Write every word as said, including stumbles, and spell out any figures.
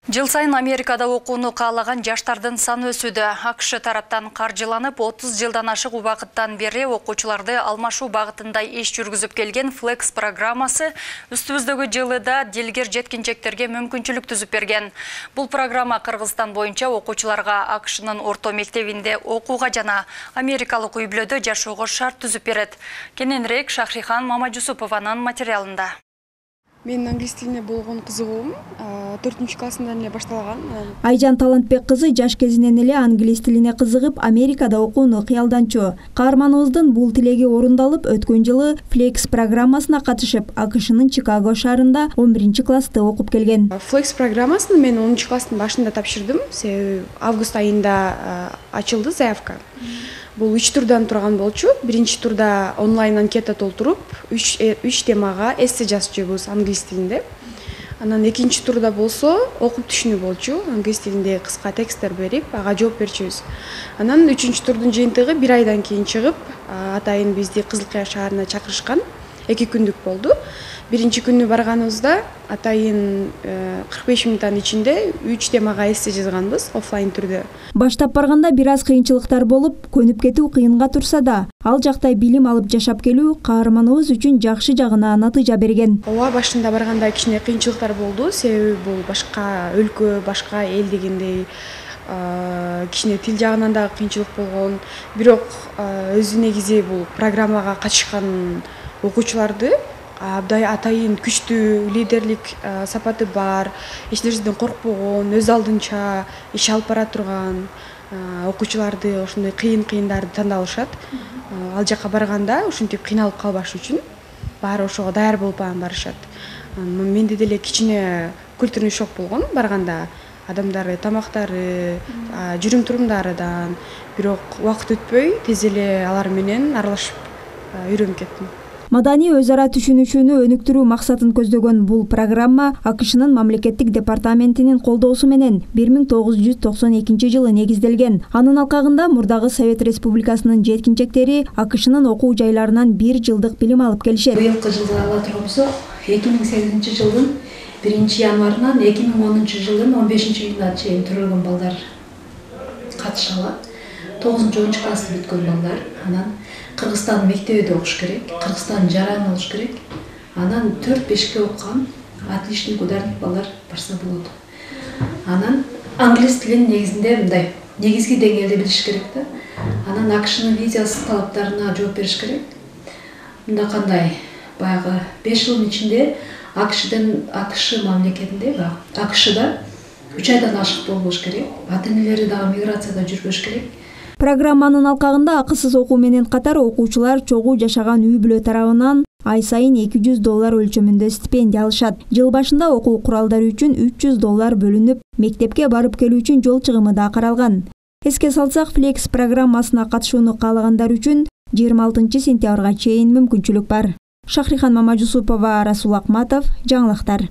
Жыл сайын Америкада окууну каалаган жаштардын саны өсүүдө. АКШ тараптан каржыланып, отуз жылдан ашык убакыттан бери окуучуларды алмашуу багытында иш жүргүзүп келген Flex программасы үстүбүздөгү жылыда дилгер жеткинчектерге мүмкүнчүлүк түзүп берген. Бул программа Кыргызстан боюнча окуучуларга АКШнын орто мектебинде окууга жана америкалык үй-бүлөдө жашоого шарт түзүп берет. Кененирээк Шахрихан Мамажусупованын материалында. Мен англис тилине болгон кызыгуум төртүнчү классымдан эле башталган. Айжан Талантбек кызы жаш кезинен эле англис тилине кызыгып, Америкада окууну кыялданчу. Каарманыбыздын бул тилеги орундалып, өткөн жылы Flex программасына катышып, АКШнын Чикаго шаарында он биринчи классты окуп келген. Flex программасын мен онунчу класстын башында тапшырдым. Себеби август айында ачылды заявка. Бул үч турдан турган болчу. Биринчи турда онлайн анкета толтуруп, үч темага эссе жазчубуз англис тилинде. Анан экинчи турда болсо окуп түшүнүү болчу. Англис тилинде кыска тексттер берип, ага жооп берчүбүз. Анан үчүнчү турдун жыйынтыгы бир айдан кийин чыгып, атайын бизди Кызыл Кыя шаарына чакырышкан. эки күндүк болду. Биринчи күнү барганыбызда атайын кырк беш мүнөттүн ичинде үч темага эссе жазганбыз офлайн түрдө. Баштап барганда бир аз кыйынчылыктар болуп, көнүп кетүү кыйынга турса да, ал жакта билим алып жашап келүү каарманыбыз үчүн жакшы жагына натыйжа берген. Ооба, башында барганда кичине кыйынчылыктар болду, себеби бул башка өлкө, башка эл дегендей кичине тил жагынан да кыйынчылык болгон. Бирок өзү негизи бул программага катышкан окуучуларды абдай атайын күчтүү лидерлик сапаты бар, эч нерседен коркпогон, өз алдынча иш алып бара турган окуучуларды ошондой кыйын-кыйындарды тандалышат. Ал жака барганда ушинтип кыйналып калбаш үчүн баары ошого даяр болуп барышат. Менде деле кичине культурный шок болгон барганда. Адамдары, тамактары, жүрүм турумдарыдан. Бирок убакыт өтпөй тез эле алар менен аралашып үйрөнүп кеттим. Маданий өз ара түшүнүшүүнү өнүктүрүү максатын көздөгөн бул программа АКШнын мамлекеттик департаментинин колдоосу менен бир миң тогуз жүз токсон экинчи жылы негизделген. Анын алкагында мурдагы Совет Республикасынын жеткинчектери АКШнын окуу жайларынан бир жылдык билим алып келишет. Быйылкы жылды ала турган эки миң сегизинчи жылдын биринчи январынан эки миң онунчу жылдын он бешинчи июнуна чейин төрөлгөн балдар катыша алат. тогузунчу онунчу классты бүткөн балдар, анан Кыргызстан мектебинде окуш керек, Кыргызстан жаран болуш керек. Анан төрт бешке окуган отличник, ударник балдар барса болот. Анан англис тилин негизинде мындай негизги деңгээлде билиш керек да. Анан АКШнын визасы талаптарына жооп бериш керек. Мында кандай баягы беш жылдын ичинде АКШдын АКШ мамлекетинде, АКШда үч айдан ашык болбош керек. Ата-энелери дагы миграцияда жүрбөш керек. Программанын алкагында акысыз окуу менен катар окуучулар чогуу жашаган үй-бүлө тарабынан ай сайын эки жүз доллар өлчөмүндө стипендия алышат. Жыл башында окуу куралдары үчүн үч жүз доллар бөлүнүп, мектепке барып келүү үчүн жол чыгымы да каралган. Эске салсак, Flex программасына катышууну каалагандар үчүн жыйырма алтынчы сентябрга чейин мүмкүнчүлүк бар. Шахрихан Мамажусупова, Расул Акматов, жаңылыктар.